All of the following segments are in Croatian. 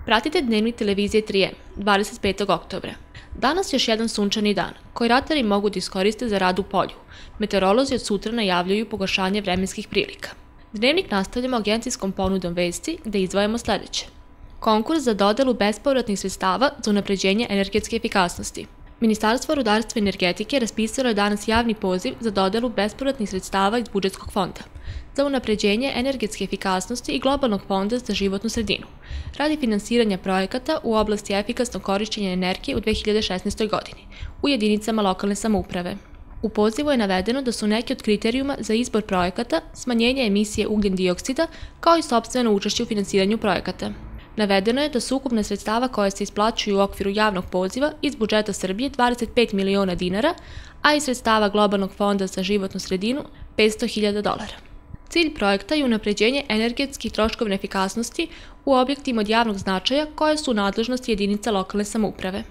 Pratite Dnevnik televizije 3M, 25. oktobra. Danas je još jedan sunčani dan, koji ratari mogu da iskoriste za rad u polju. Meteorolozi od sutra najavljuju pogoršanje vremenskih prilika. Dnevnik nastavljamo agencijskom ponudom vesti gde izdvajamo sledeće. Konkurs za dodelu bespovratnih sredstava za unapređenje energetske efikasnosti. Ministarstvo rudarstva i energetike raspisalo je danas javni poziv za dodelu bespovratnih sredstava iz budžetskog fonda za unapređenje energetske efikasnosti i globalnog fonda za životnu sredinu, radi finansiranja projekata u oblasti efikasnog korišćenja energije u 2016. godini u jedinicama lokalne samouprave. U pozivu je navedeno da su neki od kriterijuma za izbor projekata smanjenje emisije ugljen-dioksida kao i sopstveno učešće u finansiranju projekata. Navedeno je da su ukupne sredstava koje se isplaćuju u okviru javnog poziva iz budžeta Srbije 25 miliona dinara, a iz sredstava Globalnog fonda za životnu sredinu $500.000. Cilj projekta je unapređenje energetske i troškovne efikasnosti u objektima od javnog značaja koje su u nadležnosti jedinica lokalne samouprave.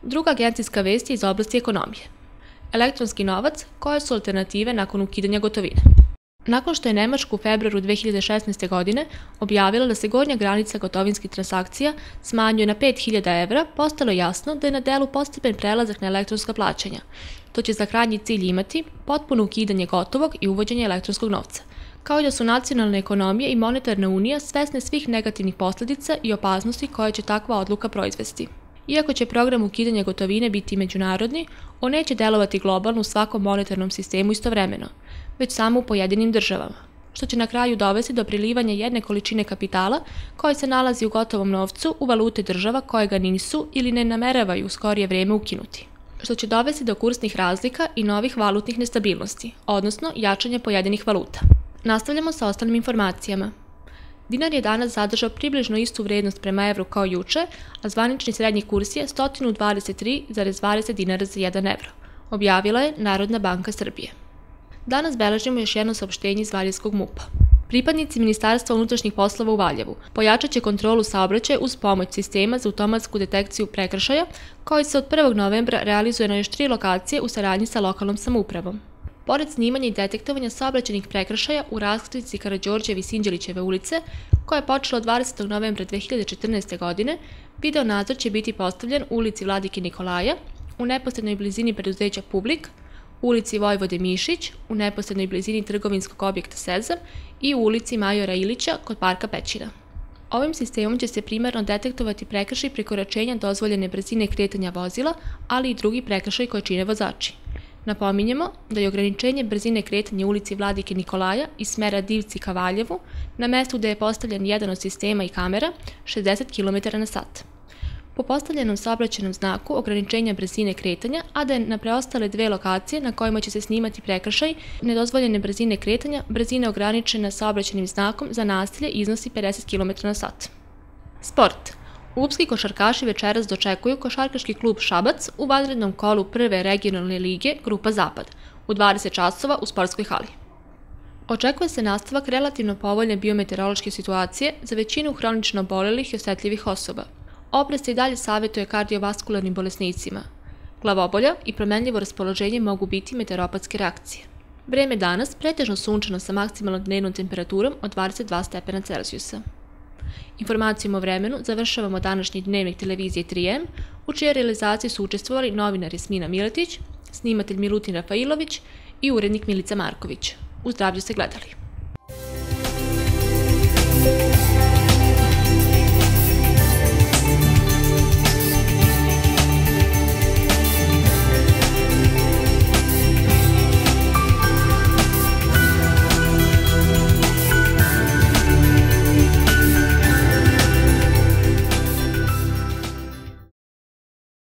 Druga agencijska vest je iz oblasti ekonomije. Elektronski novac, koje su alternative nakon ukidanja gotovine. Nakon što je Nemačka u februaru 2016. godine objavila da se gornja granica gotovinskih transakcija smanjuje na 5.000 evra, postalo je jasno da je na delu postepen prelazak na elektronska plaćanja. To će za krajnji cilj imati potpuno ukidanje gotovog i uvođenje elektronskog novca, kao i da su nacionalne ekonomije i monetarna unija svesne svih negativnih posledica i opasnosti koje će takva odluka proizvesti. Iako će program ukidanja gotovine biti međunarodni, on neće delovati globalno u svakom monetarnom sistemu istovremeno, već samo u pojedinim državama, što će na kraju dovesti do prilivanja jedne količine kapitala koja se nalazi u gotovom novcu u valute država koje ga nisu ili ne nameravaju u skorije vreme ukinuti, što će dovesti do kursnih razlika i novih valutnih nestabilnosti, odnosno jačanja pojedinih valuta. Nastavljamo sa ostalim informacijama. Dinar je danas zadržao približno istu vrednost prema evru kao juče, a zvanični srednji kurs je 123,20 dinara za 1 evro, objavila je Narodna banka Srbije. Danas beležimo još jedno saopštenje iz Valjevskog MUP-a. Pripadnici Ministarstva unutrašnjih poslova u Valjevu pojačat će kontrolu saobraćaja uz pomoć sistema za automatsku detekciju prekršaja, koji se od 1. novembra realizuje na još 3 lokacije u saradnji sa lokalnom samoupravom. Pored snimanja i detektovanja saobraćajnih prekršaja u raskrsnici Karađorđeve i Sinđelićeve ulice, koja je počela od 20. novembra 2014. godine, video nadzor će biti postavljen u ulici Vladike Nikolaja, u neposrednoj blizini preduzeća Publik, u ulici Vojvode Mišić, u neposrednoj blizini trgovinskog objekta Sezam i u ulici Majora Ilića kod parka Pećina. Ovim sistemom će se primarno detektovati prekršaj prekoračenja dozvoljene brzine kretanja vozila, ali i drugi prekršaj koje čine vozači. Napominjemo da je ograničenje brzine kretanja u ulici Vladike Nikolaja iz smera Divci ka Valjevu na mestu gde je postavljen jedan od sistema i kamera 60 km/h. Po postavljenom saobraćajnom znaku ograničenja brzine kretanja, a da je na preostale 2 lokacije na kojima će se snimati prekršaj nedozvoljene brzine kretanja, brzina ograničena saobraćajnim znakom za nasilje iznosi 50 km/h. Sport. Klubski košarkaši večeras dočekuju košarkaški klub Šabac u vanrednom kolu prve regionalne lige Grupa Zapad u 20 časova u sportskoj hali. Očekuje se nastavak relativno povoljne biometeorološke situacije za većinu hronično obolelih i osetljivih osoba. Oprez se i dalje savjetuje kardiovaskularnim bolesnicima. Glavobolja i promenljivo raspoloženje mogu biti meteoropatske reakcije. Vreme danas pretežno sunčano sa maksimalnom dnevnom temperaturom od 22 stepena Celzijusa. Informacijom o vremenu završavamo današnji Dnevnik televizije 3M, u čijoj realizaciji su učestvovali novinar Jasmina Miletić, snimatelj Milutin Rafailović i urednik Milica Marković. U zdravlju se gledali.